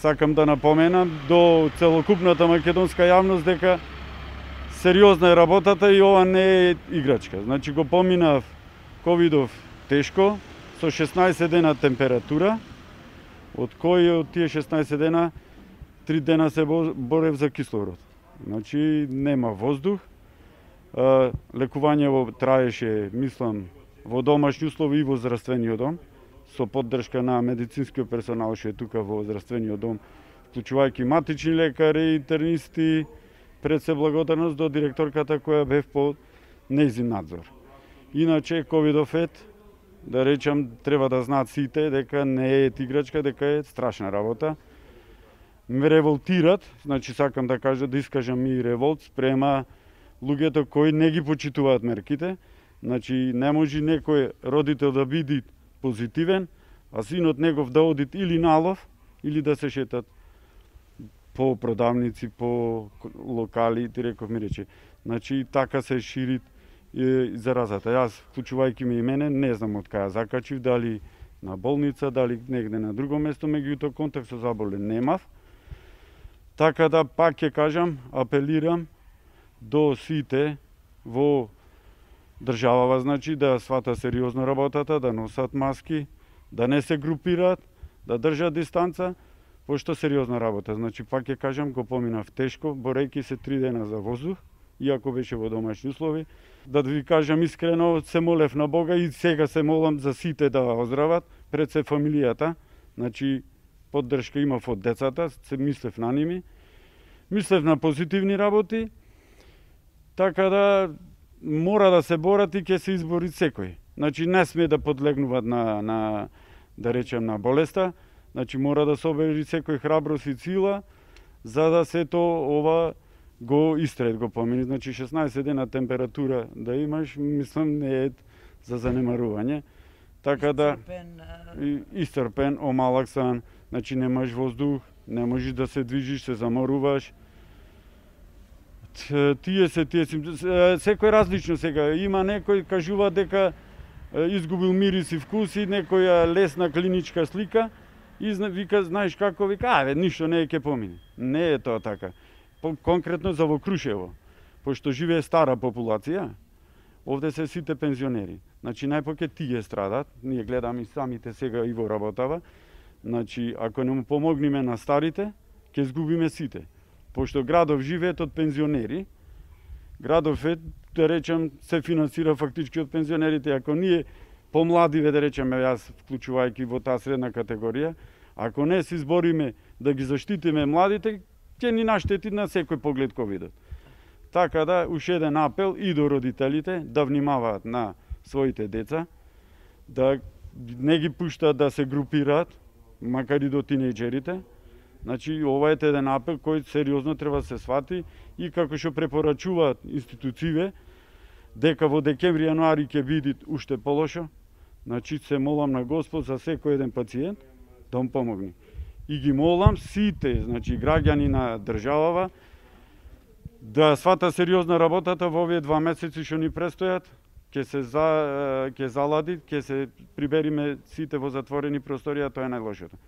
Сакам да напоменам до целокупната македонска јавност дека сериозна е работата и ова не е играчка. Значи го поминав ковидов тешко, со 16 дена температура, од кои од тие 16 дена 3 дена се борев за кислород. Значи нема воздух. Лекувањето траеше, мислам, во домашни услови и во здравствениот дом, со поддршка на медицинскиот персонал што е тука во здравствениот дом, вклучувајќи матични лекари, интернисти, пред се благодарност до директорката која бев по нејзин надзор. Иначе ковидов да речам, треба да знаат сите дека не е играчка, дека е страшна работа. Ме револтират, значи сакам да кажам, да искажам и револт спрема луѓето кои не ги почитуваат мерките. Значи не може некој родител да биде позитивен, а синот негов да одит или на лов, или да се шетат по продавници, по локали, ти реков ми рече. Значи така се шири заразата. Јас, вклучувајќи ме и мене, не знам од кај закачив, дали на болница, дали негде на друго место, меѓутоа контакт со заболен немав. Така да пак ќе кажам, апелирам до сите во државава, значи да свата сериозно работата, да носат маски, да не се групираат, да држат дистанца, пошто сериозна работа. Значи пак ќе кажам, го поминав тешко, борејќи се 3 дена за воздух, иако беше во домашни услови. Да ви кажам искрено, се молев на Бога и сега се молам за сите да оздрават, пред се фамилијата. Значи поддршка имав од децата, се мислев на ними. Мислев на позитивни работи, така да мора да се борат и ќе се избори секој. Значи не сме да подлегнуваат на да речем на болеста, значи мора да се обери секој храброст и сила за да сето ова го истрет, го помини. Значи 16 дена температура да имаш, мислам не е за занемарување. Така да истрпен, омалак сан, значи немаш воздух, не можеш да се движиш, се заморуваш. Тие секој различно сега. Има некој кажува дека изгубил мирис и вкуси, некоја лесна клиничка слика и вика, знаеш како, вика, ништо не е ќе помине. Не е тоа така. Конкретно за во Крушево, пошто живее стара популација, овде се сите пензионери. Значи најпоќе тие страдат, ние гледаме и самите сега и во работава. Значи ако не му помогнеме на старите, ќе изгубиме сите. Пошто градов живеет од пензионери, градов да речем, се финансира фактички од пензионерите. Ако ние помладиве, да речеме, јас вклучувајќи во таа средна категорија, ако не се избориме да ги заштитиме младите, ќе ни наштети на секој поглед ковидот. Така да, уште еден апел и до родителите да внимаваат на своите деца, да не ги пуштаат да се групираат, макар и до тинејџерите. Значи, ова е еден апел кој сериозно треба да се свати и како што препорачуваат институциите, дека во декември, јануари ќе биде уште полошо, значи се молам на Господ за секој еден пациент да му помогне. И ги молам сите, значи граѓани на државава, да свата сериозна работата во овие 2 месеци што ни престојат, ќе залади, ќе се прибериме сите во затворени просторија, тоа е најлошото.